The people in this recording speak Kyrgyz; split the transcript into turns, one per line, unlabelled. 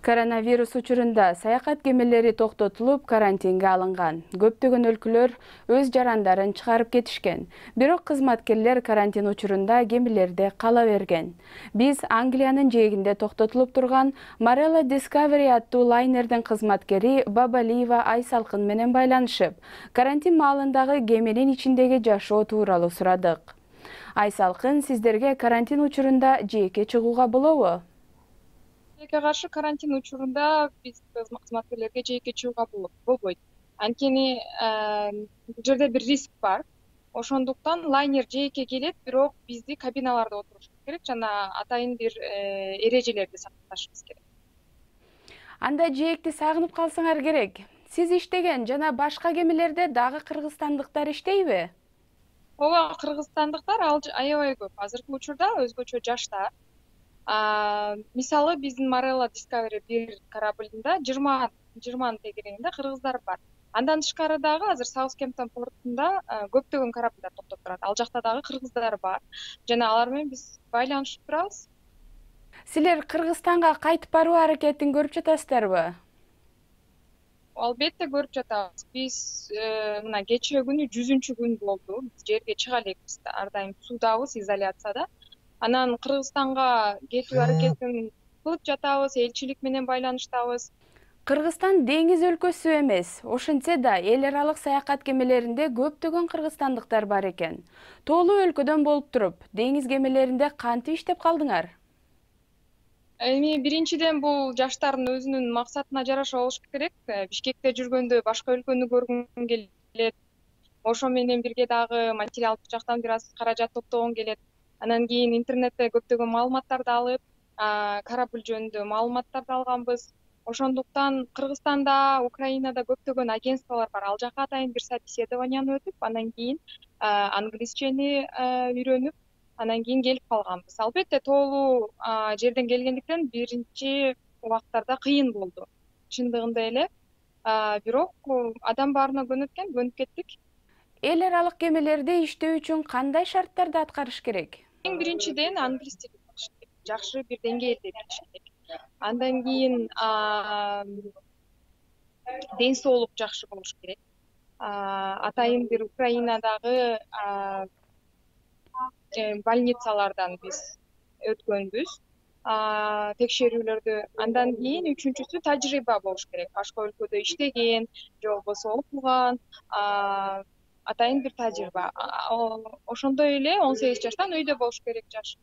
Коронавирус учурунда саякат кемелери токтотулуп, карантинге алынган. Көптөгөн өлкөлөр өз жарандарын чыгарып кетишкен. Бирок кызматкерлер карантин учурунда кемелерде кала берген. Биз Англиянын жээгинде токтотулуп турган Marella Discovery аттуу лайнердин кызматкери Бабалиева Айсалкын менен байланышып, карантин маалындагы кеменин ичиндеги жашоо тууралуу сурадык. Айсалкын, сиздерге карантин учурунда жээкке чыгууга болобу?
Каршы карантин учурунда биз кызматкерлерге жээкке чыгууга болбойт. Анткени бул жерде бир риск бар. Ошондуктан лайнер жээкке келет, бирок бизди кабиналарда отурушубуз керек жана атайын бир эрежелерди сакташыбыз керек.
Анда жээкти сагынып калсаңар керек. Сиз иштеген жана башка кемелерде дагы кыргызстандыктар иштейби?
Ооба, кыргызстандыктар аябай көп. Азыркы учурда өзгөчө жаштар. Мисалы биздин Marella Discovery 1 кораблында 20 тегерегинде кыргыздар бар. Андан тышкары дагы азыр Саутгемптон портунда көптөгөн кораблдар токтоп турат. Ал жакта дагы кыргыздар бар жана алар менен биз байланышып турабыз.
Силер Кыргызстанга кайтып баруу аракетин көрүп жатасыздарбы?
Албетте көрүп жатабыз. Биз мына кечээ күнү 100-күн болду. Биз жерге чыга элекпиз. Ар дайым суудабыз, изоляцияда. Анан Кыргызстанга кетүү аракетин кылып жатабыз, элчилик менен байланыштабыз.
Кыргызстан деңиз өлкөсү эмес, ошентсе да эл аралык саякат кемелеринде көптөгөн кыргызстандыктар бар экен. Тоолуу өлкөдөн болуп туруп, деңиз кемелеринде кантип иштеп калдыңар?
Эми биринчиден бул жаштардын өзүнүн максатына жараша болуш керек. Бишкекте жүргөндө башка өлкөнү көргүм келет. Ошо менен бирге дагы материалдык жактан бир аз каражат топтогум келет. Анан кийин интернетте көптөгөн маалыматтарды алып, корабль жөнүндө маалыматтарды алганбыз. Ошондуктан Кыргызстанда, Украинада көптөгөн агентстволор бар. Ал жака атайын бир собеседованияны өтүп, анан кийин англисчени үйрөнүп, анан кийин келип калганбыз. Албетте тоолуу жерден келгендиктен биринчи убактарда кыйын болду. Чындыгында эле. Бирок адам баарына көнүп кеттик.
Эл аралык кемелерде иштөө үчүн кандай шарттарды аткарыш керек?
Эң биринчиден англис тилин билиш керек. Жакшы бир деңгээлде билиш керек. Андан кийин ден соолук жакшы болуш керек. Атайын бир Украинадагы больницалардан биз өткөнбүз текшерүүлөрдү. Андан кийин үчүнчүсү тажрыйба болуш керек. Башка өлкөдө иштеген же болбосо окуган атайын бир тажрыйба. Ошондой эле 18 жаштан үйдө болуш керек жаш.